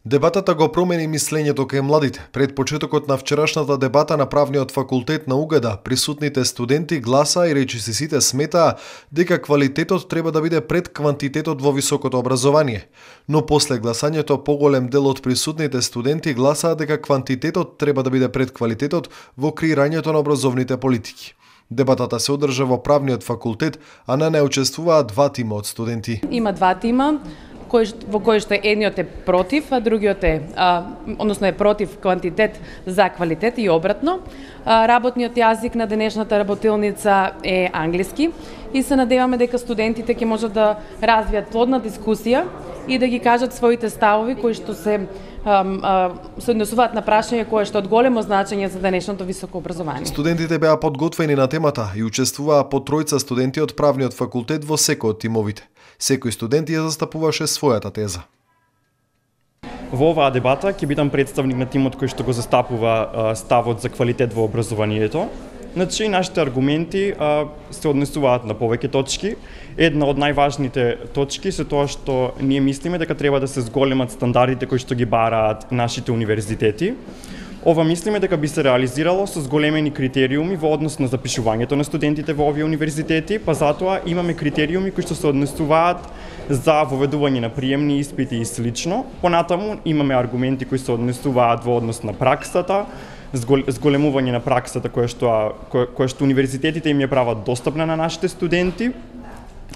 Дебатата го промени мислењето кај младите. Пред почетокот на вчерашната дебата на Правниот факултет на УГД, присутните студенти гласа и речиси сите сметаа дека квалитетот треба да биде пред квантитетот во високото образование. Но после гласањето поголем дел од присутните студенти гласаа дека квантитетот треба да биде пред квалитетот во креирањето на образовните политики. Дебатата се одржа во Правниот факултет, а на неа учествуваа два тима од студенти. Има два тима во кој што едниот е против, а другиот е против квантитет за квалитет и обратно. Работниот јазик на денешната работилница е англиски и се надеваме дека студентите ќе можат да развијат плодна дискусија и да ги кажат своите ставови кои што се однесуваат на прашање кое што од големо значење за денешното високо образование. Студентите беа подготвени на темата и учествуваа по тројца студенти од Правниот факултет во секој од тимовите. Секој студент ја застапуваше својата теза. Во оваа дебата ќе бидам представник на тимот кој што го застапува ставот за квалитет во образованието. Значи, нашите аргументи се однесуваат на повеќе точки. Една од најважните точки се тоа што ние мислиме дека треба да се зголемат стандардите кои што ги бараат нашите универзитети. Ова мислиме дека би се реализирало со зголемени критериуми во однос на запишувањето на студентите во овие универзитети, па затоа имаме критериуми кои што се однесуваат за воведување на приемни испити и слично. Понатаму имаме аргументи кои се однесуваат во однос на праксата, зголемување на праксата која што универзитетите им ја прават достапна на нашите студенти.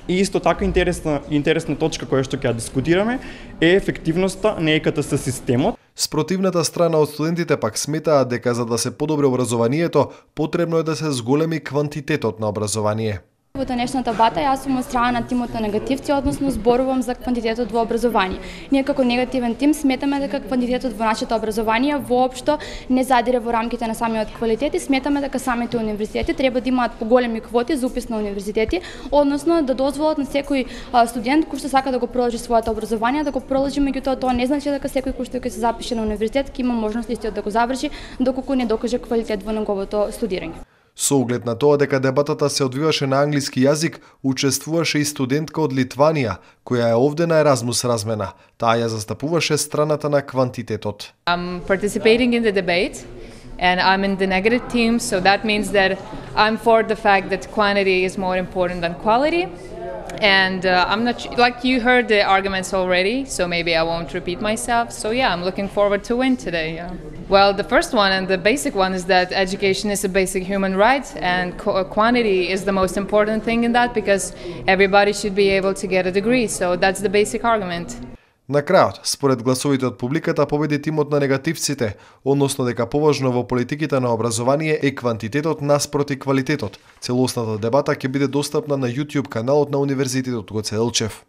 И исто така интересна точка која што ќе ја дискутираме е ефективноста на ЕКТС системот. Спротивната страна од студентите пак сметаа дека за да се подобри образованието, потребно е да се зголеми квантитетот на образование. Во денешната дебата јас сум од страна на тимот на негативци, односно зборувам за квантитетот во образование. Ние како негативен тим сметаме дека квантитетот во нашето образование воопшто не задире во рамките на самиот квалитет и сметаме дека самите универзитети треба да имаат поголеми квоти за упис на универзитети, односно да дозволат на секој студент кој што сака да го продолжи своето образование да го продолжи, меѓутоа тоа не значи дека секој кој што ќе се запише на универзитет ќе има можност истиот да го заврши доколку не докаже квалитет во неговото студирање. Со оглед на тоа дека дебатата се одвиваше на англиски јазик, учествуваше и студентка од Литванија, која е овде на Еразмус размена. Таа ја застапуваше страната на квантитетот. I'm participating in the debate and I'm in the negative team, so that means that I'm for the fact that quantity is more important than quality. And I'm not like you heard the arguments already, so maybe I won't repeat myself. So yeah, I'm looking forward to win today. Yeah. Well, the first one and the basic one is that education is a basic human right, and quantity is the most important thing in that because everybody should be able to get a degree. So that's the basic argument. На крајот, според гласовите од публиката, победи тимот на негативците, односно дека поважно во политиките на образование е квантитетот наспроти квалитетот. Целосната дебата ќе биде достапна на YouTube каналот на Универзитетот Гоце Делчев.